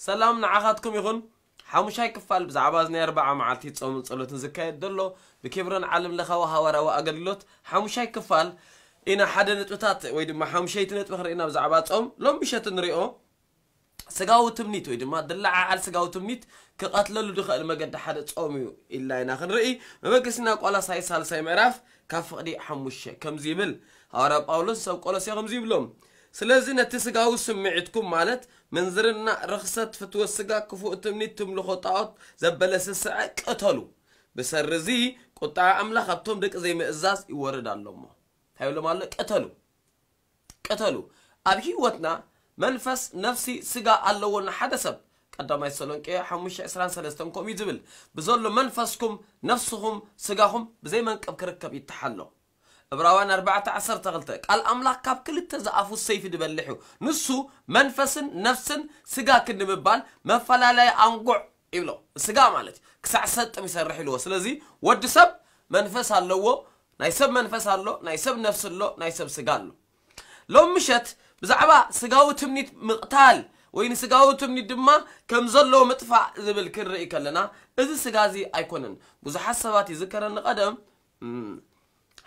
ሰላም ንዓኻትኩም ይኹን። ሓሙሻይ ክፋል ብዛዕባ እዚ ናይ ኣርባዓ መዓልቲ ጾምን ጸሎትን ዝካየድ ዘሎ ብኬብሮን ዓለም ለኻዊ ሃዋርያዊ ኣገልግሎት ሓሙሻይ ክፋል ኢና። ሓደ ነጥብታት ወይ ድማ ሓሙሸይቲ ነጥቢ ክንርኢ ኢና ብዛዕባ ጾም ሎም ምሸት ንሪኦ። ስጋዊ ትምኒት ወይ ድማ ድለዓዓል ስጋዊ ትምኒት ክቐትለሉ ዝኽእል መገዲ ሓደ ጾም እዩ ኢልና ኢና ክንርኢ። መበገሲና ቆላሳይ ሳልሳይ ምዕራፍ ካብ ፍቕዲ ሓሙሽተ ከምዚ ይብል። ሃዋርያ ጳውሎስ ሰብ ቆሎሴ ከምዚ ይብሎም፣ ስለዚ ነቲ ስጋዊ ስምዒትኩም ማለት ምንዝርና፣ ርኽሰት፣ ፍትወት ስጋ፣ ክፉእ ትምኒት፣ ትምልኾ ጣዖት ዘበለ ስስዐ ቅተሉ። ብሰሪ እዚ ቁጥዓ ኣምላኽ ኣብቶም ደቂ ዘይምእዛዝ ይወርድ ኣሎ እሞ እንታይ ይብሎም ኣሎ? ቅተሉ። ቅተሉ። ኣብ ህይወትና መንፈስ፣ ነፍሲ፣ ስጋ ኣለዎ። ንሓደ ሰብ ቀዳማይ ተሰሎንቄ ሓሙሽተ ዕስራን ሰለስተን ከምኡ እዩ ዝብል፣ ብዘሎ መንፈስኩም ነፍስኹም ስጋኹም ብዘይ መንቀብ ክርከብ ይተሓሎ። ዕብራውያን ኣርባዕተ ዓሰርተ ክልተ ቃል ኣምላኽ ካብ ክልተ ዝኣፉ ሰይፊ ዝበልሕ እዩ። ንሱ መንፈስን ነፍስን ስጋ ክንዲ ምባል መፈላለያ ኣንጉዕ ይብሎ። ስጋ ማለት እዩ። ክሳዕ ሰጥም ይሰርሕ ኢልዎ። ስለዚ ወዲ ሰብ መንፈስ ኣለዎ። ናይ ሰብ መንፈስ ኣሎ፣ ናይ ሰብ ነፍሲ ኣሎ፣ ናይ ሰብ ስጋ ኣሎ። ሎም ምሸት ብዛዕባ ስጋዊ ትምኒት ምቕታል ወይ ንስጋዊ ትምኒት ድማ ከም ዘለዎ ምጥፋእ ዝብል ክንርኢ ከለና፣ እዚ ስጋ እዚ ኣይኮነን። ብዙሓት ሰባት ይዝከረኒ ቀደም፣ እም፣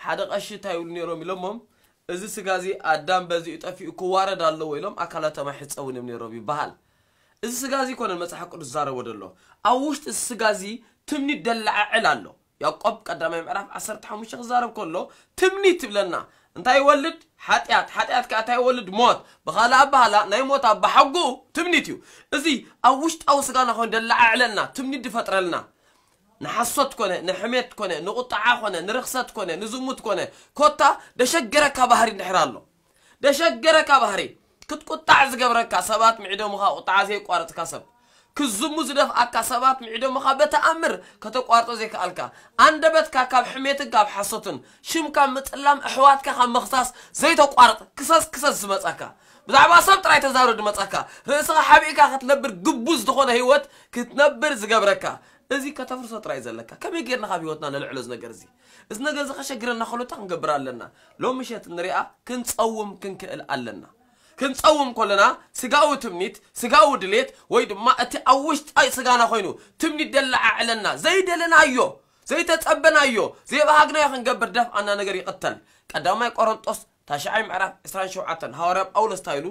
ሓደ ቀሺ እንታይ ይብሉ ነይሮም ኢሎሞም፣ እዚ ስጋ እዚ ኣዳም በዚኡ ጠፊኡ ክዋረድ ኣለዎ ኢሎም ኣካላቶም ኣይሕጸቡን እዮም ነይሮም ይበሃል። እዚ ስጋ እዚ ይኮነን መጽሓፍ ቅዱስ ዝዛረቦ ዘሎ። ኣብ ውሽጢ እዚ ስጋ እዚ ትምኒት ደለዓዕል ኣሎ። ያዕቆብ ቀዳማይ ምዕራፍ ዓሰርተ ሓሙሽተ ክዛረብ ከሎ ትምኒት ይብለና። እንታይ ይወልድ? ሓጢኣት። ሓጢኣት ከኣ እንታይ ይወልድ? ሞት። ብኻልእ ኣባህላ ናይ ሞት ኣባሓጎኡ ትምኒት እዩ። እዚ ኣብ ውሽጣዊ ስጋና ኮይኑ ደለዓዕለና፣ ትምኒት ዝፈጥረልና፣ ንሓሶት ኮነ፣ ንሕሜት ኮነ፣ ንቁጥዓ ኮነ፣ ንርኽሰት ኮነ፣ ንዝሙት ኮነ፣ ኮታ ደሸገረካ ባህሪ እንድሕር ኣሎ፣ ደሸገረካ ባህሪ ክትቁጣዕ ዝገብረካ፣ ሰባት ምዒዶምኻ ቁጥዓ ዘየቋረጽካ ሰብ፣ ክዝሙ ዝደፍኣካ ሰባት ምዒዶምኻ በተኣምር ከተቋርጦ ዘይከኣልካ፣ ኣንደበትካ ካብ ሕሜትን ካብ ሓሶትን፣ ሽም ካብ ምጽላም፣ ኣሕዋትካ ካብ ምኽሳስ ዘይተቋርጥ ክሰስ ክሰስ ዝመጻካ፣ ብዛዕባ ሰብ ጥራይ ተዛረብ ዝመጻካ፣ ርእስኻ ሓቢእካ ክትነብር ግቡዝ ዝኾነ ህይወት ክትነብር ዝገብረካ፣ እዚ ከተፍርሶ ጥራይ ዘለካ። ከመይ ጌርና ካብ ህይወትና ነልዕሎ እዚ ነገር እዚ? እዚ ነገር እዚ ከሸግረና ከሎ እንታይ ክንገብር ኣለና? ሎም ምሸት ንሪኣ ክንጸውም ክንክእል ኣለና። ክንጸውም ከለና ስጋዊ ትምኒት፣ ስጋዊ ድሌት ወይ ድማ እቲ ኣብ ውሽጣ ስጋና ኮይኑ ትምኒት ደለዓዕለና፣ ዘይደለናዮ፣ ዘይተጸበናዮ፣ ዘይበሃግናዮ ክንገብር ደፍኣና ነገር ይቕተል። ቀዳማይ ቆሮንጦስ ታሽዓይ ምዕራፍ ዕስራን ሸውዓተን ሃዋርያ ጳውሎስ እንታይ ኢሉ?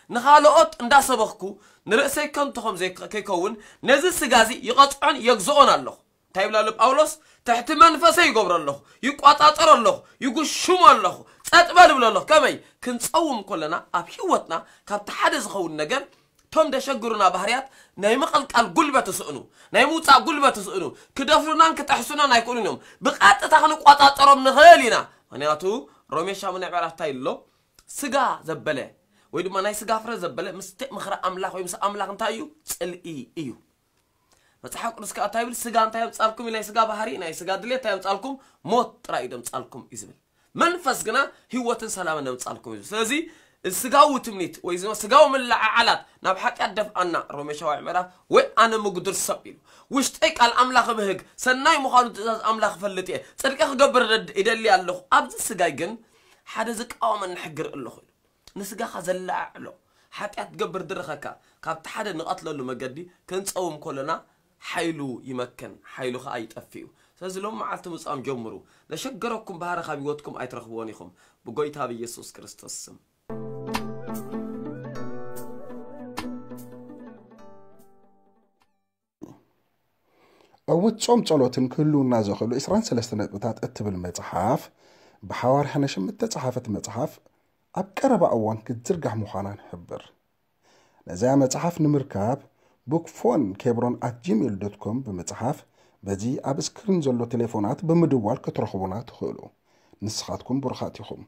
ንኻልኦት እንዳሰበኽኩ ንርእሰይ ከንቱ ከም ዘይ-፣ ከይከውን ነዚ ስጋ እዚ ይቐጽዖን የግዝኦን ኣለኹ። እንታይ ይብል ኣሎ ጳውሎስ? ትሕቲ መንፈሰይ ይገብሮ ኣለኹ፣ ይቋጻጸሮ ኣለኹ፣ ይጉሽሞ ኣለኹ፣ ጸጥ በል ይብሎ ኣለኹ። ከመይ? ክንጸውም ከለና ኣብ ህይወትና ካብቲ ሓደ ዝኸውን ነገር፣ እቶም ደሸግሩና ባህርያት ናይ ምቕልቃል ጉልበት ይስእኑ፣ ናይ ምውጻእ ጉልበት ይስእኑ፣ ክደፍሩናን ክጠሕሱናን ኣይክእሉን እዮም። ብቐጥታ ክንቋጻጸሮም ንኽእል ኢና። ምኽንያቱ ሮሜ ሻሙናይ ምዕራፍ እንታይ ኣሎ? ስጋ ዘበለ ወይ ድማ ናይ ስጋ ፍረ ዘበለ ምስ ምኽሪ ኣምላኽ ወይ ምስ ኣምላኽ እንታይ እዩ? ጽልኢ እዩ። መጽሓፍ ቅዱስ ከኣ እንታይ ይብል? ስጋ እንታይ የምጻልኩም እዩ? ናይ ስጋ ባህሪ፣ ናይ ስጋ ድሌት እንታይ የምጻልኩም? ሞት ጥራይ እዩ ደምጻልኩም እዩ ዝብል። መንፈስ ግና ህይወትን ሰላምን ደምጻልኩም እዩ ዝብል። ስለዚ እዚ ስጋዊ ትምኒት ወይ እዚ ስጋዊ ምልዕዓላት ናብ ሓጢኣት ደፍኣና፣ ሮሜ ሻውዓይ ምዕራፍ፣ ወይ ኣነ ምጉድል ሰብ ኢሉ። ውሽጠይ ቃል ኣምላኽ ብህግ፣ ሰናይ ምዃኑ ትእዛዝ ኣምላኽ እፈልጥ እየ፣ ጽድቂ ክገብር እደድ-፣ ይደሊ ኣለኹ። ኣብዚ ስጋይ ግን ሓደ ዝቃወመኒ ሕግር ኣለኹ ኢሉ። ንስጋኻ ዘለዓዕሎ ሓጢኣት ትገብር ድረኸካ፣ ካብቲ ሓደ ንቐትለሉ መገዲ ክንጸውም ከሎና ሓይሉ ይመክን፣ ሓይሉ ኸኣ ይጠፍእ እዩ። ስለዚ ሎም መዓልቲ ምጻም ጀምሩ። ዘሸገረኩም ባህሪ ካብ ህይወትኩም ኣይትረኽብዎን ኢኹም። ብጎይታ ብኢየሱስ ክርስቶስ ስም። ዕዉት ጾም ጸሎትን ክህልውና ዝኽእሉ ዕስራን ሰለስተ ነጥብታት እትብል መጽሓፍ፣ ብሓዋርያ ሄኖሽ እተጸሓፈት መጽሓፍ፣ ኣብ ቀረባ እዋን ክትዝርጋሕ ምዃና ንሕብር። ነዚኣ መጽሓፍ ንምርካብ፣ bookphone kebron at gmail dot com ብምጽሓፍ፣ በዚ ኣብ ስክሪን ዘሎ ቴሌፎናት ብምድዋል ክትረኽቡና ትኽእሉ። ንስኻትኩም ብሩኻት ኢኹም።